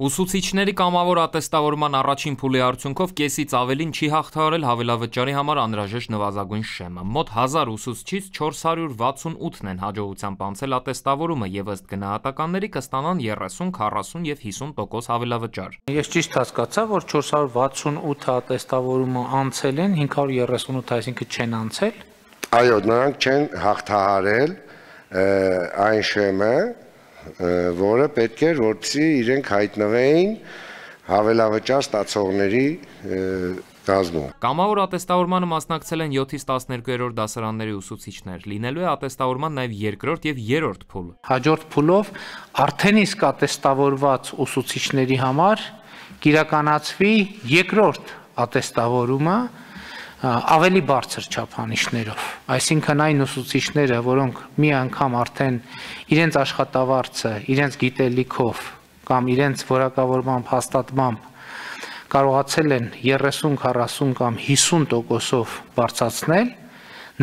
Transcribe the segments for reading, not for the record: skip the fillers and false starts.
Ուսուցիչների կամավոր ատեստավորման առաջին փուլի արդյունքով կեսից ավելին չի հաղթահարել հավելավճարի համար անհրաժեշտ նվազագույն շեմը։ Մոտ 1000 ուսուցչից 468-ն են հաջողությամբ անցել ատեստավորումը եւ ըստ գնահատականների կստանան 30, 40 եւ 50% հավելավճար։ Ես ճիշտ հասկացա, որ 468 ատեստավորումը անցել են, 538, այսինքն չեն անցել։ Այո, նրանք չեն հաղթահարել այն շեմը, որը պետք էր, որպեսզի իրենք հայտնվեին հավելավճար ստացողների կազմում։ Կամավոր ատեստավորմանը մասնակցել են 7-ից 12-րդ դասարանների ուսուցիչներ, լինելու է ատեստավորման նաև երկրորդ եւ երրորդ փուլ։ Հաջորդ փուլով արդեն իսկ ատեստավորված ուսուցիչների համար կիրականացվի երկրորդ ատեստավորումը ավելի բարձր չափանիշներով, այսինքն այն ուսուցիչները, որոնք մի անգամ արդեն իրենց աշխատավարձը, իրենց գիտելիքով կամ իրենց որակավորմամբ հաստատմամբ կարողացել են 30, 40 կամ 50%-ով բարձրացնել,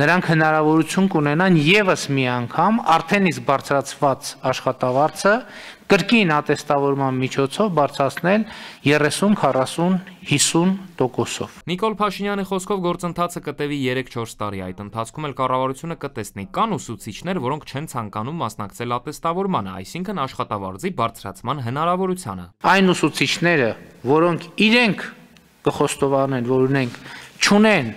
նրանք հնարավորություն կունենան եւս մի անգամ արդեն իսկ բարձրացված աշխատավարձը կրկին ատեստավորման միջոցով բարձրացնել 30, 40, 50%-ով։ Նիկոլ Փաշինյանի խոսքով գործընթացը կտևի 3-4 տարի, այդ ընթացքում էլ կառավարությունը կտեսնի կան ուսուցիչներ, որոնք չեն ցանկանում մասնակցել ատեստավորմանը, այսինքն աշխատավարձի բարձրացման հնարավորությանը։ Այն ուսուցիչները, որոնք իրենք կխոստովանեն, որ ունենք չունեն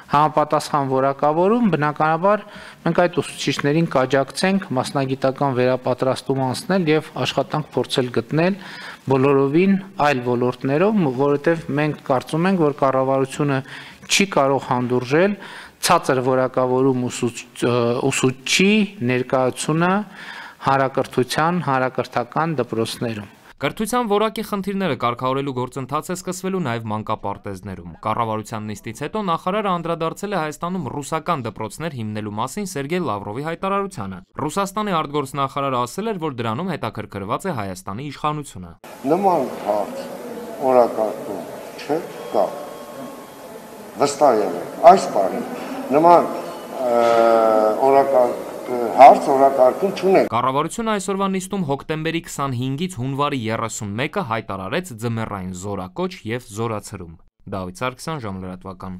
համապատասխան որակավորում, բնականաբար մենք այդ ուսուցիչներին կաջակցենք մասնագիտական վերապատրաստում անցնել եւ աշխատանք փորձել գտնել բոլորովին այլ ոլորտներով, որովհետեւ մենք կարծում ենք, որ կառավարությունը չի կարող հանդուրժել ցածր որակավորում ուսուցչի ներկայությունը հանրակրթության, հանրակրթական դպրոցներում։ Կրթության որակի խնդիրները կարգավորելու գործընթաց է սկսվելու նաև մանկապարտեզներում։ Կառավարության նիստից հետո նախարարը անդրադարձել է Հայաստանում ռուսական դպրոցներ հիմնելու մասին Սերգեյ Լավրովի հայտարարությանը։ Ռուսաստանի արտգործնախարարը ասել էր, որ դրանում հետաքրքրված է Հայաստանի իշխանությունը։ Նման հարց օրակարգում չկա։ Վստահ եղեք, այս բանը նման օրակարգ հարց օրակարգում չունենք։ Կառավարությունը այսօրվա նիստում հոկտեմբերի 25-ից հունվարի 31-ը հայտարարեց ձմեռային զորակոչ եւ զորացրում։ Դավիթ Սարգսյան, ժամլրատվական։